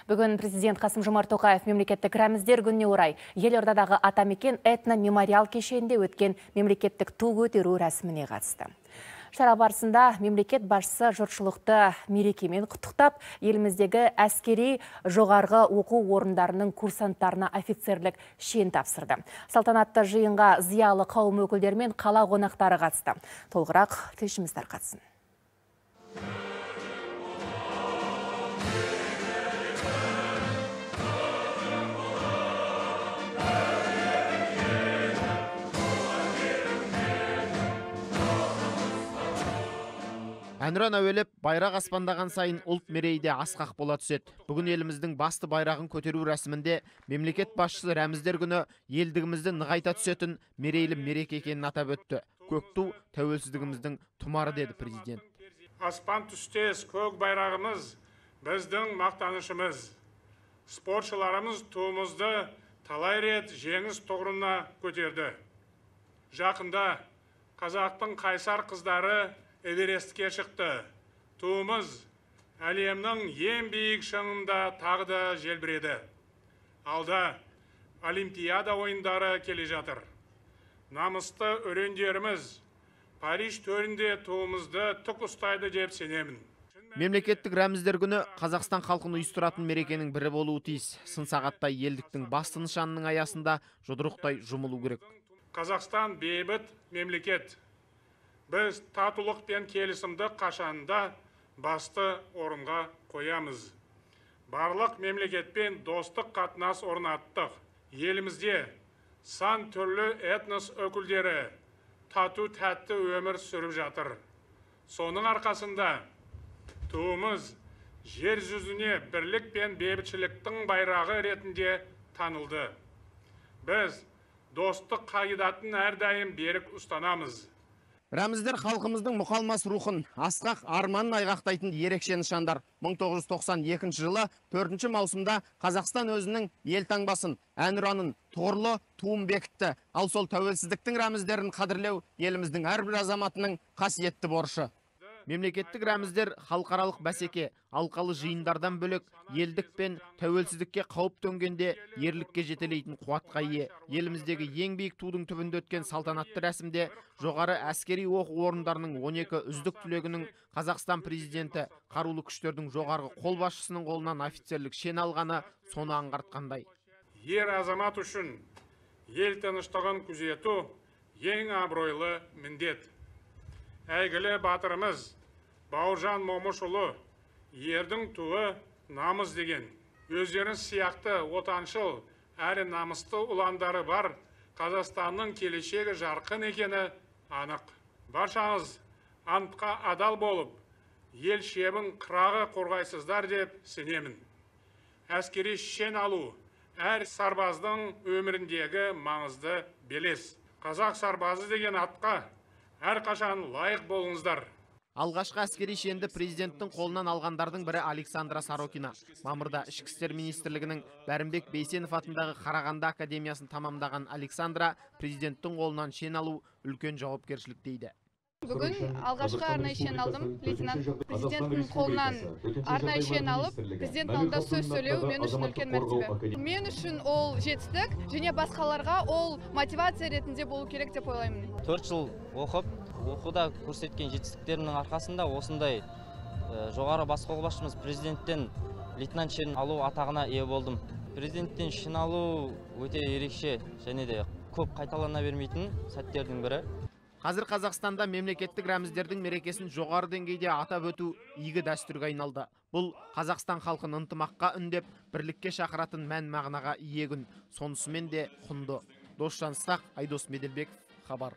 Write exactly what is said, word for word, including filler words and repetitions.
Бүгін президент Қасым-Жомарт Тоқаев мемлекеттік рәміздер күніне орай елордадағы Атамекен этно-мемориал кешенінде өткен мемлекеттік ту көтеру рәсіміне қатысты. Шара барысында мемлекет басшысы жұртшылықты мерекемен құттықтап, еліміздегі әскери жоғарғы оқу орындарының курсанттарына офицерлік шен тапсырды. Салтанатты жиынға зиялы қауым өкілдері мен қала қонақтары қатысты. Толығырақ тілшіміз тарқатсын. Әнұран әуелеп, байрақ аспандаған сайын ұлт мерейде асқақ бола түседі. Бүгін еліміздің басты байрағын көтеру рәсімінде мемлекет басшысы рәміздер күні елдігімізді нығайта түсетін мерейлі мереке екенін атап өтті. Көк ту тәуелсіздігіміздің тұмары деді президент. Аспан түстес көк байрағымыз біздің мақтанышымыз. Спортшыларымыз туымызды талай рет жеңіс тұғырына көтерді. Жақында қазақтың қайсар қыздары Эверестке шықты. Туымыз әлемнің ең биік шыңында тағы да желбіреді. Алда Олимпиада ойындары келе жатыр. Намысты өрендеріміз Париж төрінде туымызды тік ұстайды деп сенемін. Мемлекеттік рәміздер күні Қазақстан халқын ұйыстыратын мерекенің бірі болуы тиіс. Сын сағаттай елдіктің басты нышанының аясында жұдырықтай жұмылу керек. Қазақстан бейбіт мемлекет. Біз татулық пен келісімді қашанда басты орынға қоямыз. Барлық мемлекетпен достық қатынас орнаттық. Елімізде сан түрлі этнос өкілдері тату тәтті өмір сүріп жатыр. Соның арқасында туымыз жер жүзіне бірлік пен бейбітшіліктің байрағы ретінде танылды. Біз достық қағидатын әрдайым берік ұстанамыз. Рәміздер халқымыздың мұқалмас рухын, асқақ арманын айғақтайтын ерекше нышандар. мың тоғыз жүз тоқсан екінші жылы төртінші маусымда Қазақстан өзінің елтаңбасын, әнұранын, тұғырлы туын бекітті. Ал сол тәуелсіздіктің рәміздерін қадірлеу еліміздің әрбір азаматының қасиетті борышы. Мемлекеттік рәміздер халықаралық бәсеке, алқалы жиындардан бөлек елдік пен тәуелсіздікке қауіп төнгенде ерлікке жетелейтін қуатқа ие. Еліміздегі ең биік тудың түбінде өткен салтанатты рәсімде жоғары әскери оқу орындарының он екі үздік түлегінің Қазақстан президенті қарулы күштердің жоғарғы қолбасшысының қолынан офицерлік шен алғаны соны аңғартқандай. Ер азамат үшін ел тыныштығын күзету ең абыройлы міндет. Әйгілі батырымыз Бауыржан Момышұлы ердің туы намыс деген. Өздерін сияқты отаншыл әрі намысты ұландары бар Қазақстанның келешегі жарқын екені анық. Баршаңыз антқа адал болып, ел шебін қырағы қорғайсыздар деп сенемін. Әскери шен алу әр сарбаздың өміріндегі маңызды белес. Қазақ сарбазы деген атқа әрқашан лайық болыңыздар. Алғашқы әскери шенді президенттің қолынан алғандардың бірі Александра Сорокина. Мамырда ішкі істер министрлігінің Бәрімбек Бейсенов атындағы Қарағанды академиясын тамамдаған Александра президенттің қолынан шен алу үлкен жауапкершілік дейді. Бүгін алғашқы арнайы шен алдым. Лейтенант президенттің қолынан арнайы шен алып, президенттің алдында сөз сөйлеу мен үшін үлкен мәртебе. Мен үшін ол жетістік, және басқаларға ол мотивация ретінде болу керек деп ойлаймын. төрт жыл оқып, оқуда көрсеткен жетістіктерінің арқасында осындай жоғары бас қолбасшымыз президенттен лейтенант шен алу атағына ие болдым. Президенттен шен алу өте ерекше және де көп қайталана бермейтін сәттердің бірі. Қазір Қазақстанда мемлекеттік рәміздердің мерекесін жоғары деңгейде атап өту игі дәстүрге айналды. Бұл Қазақстан халқын ынтымаққа үндеп, бірлікке шақыратын мән мағынаға ие күн. Сонысымен де құнды. Досжан Сақ, Айдос Меделбеков, хабар.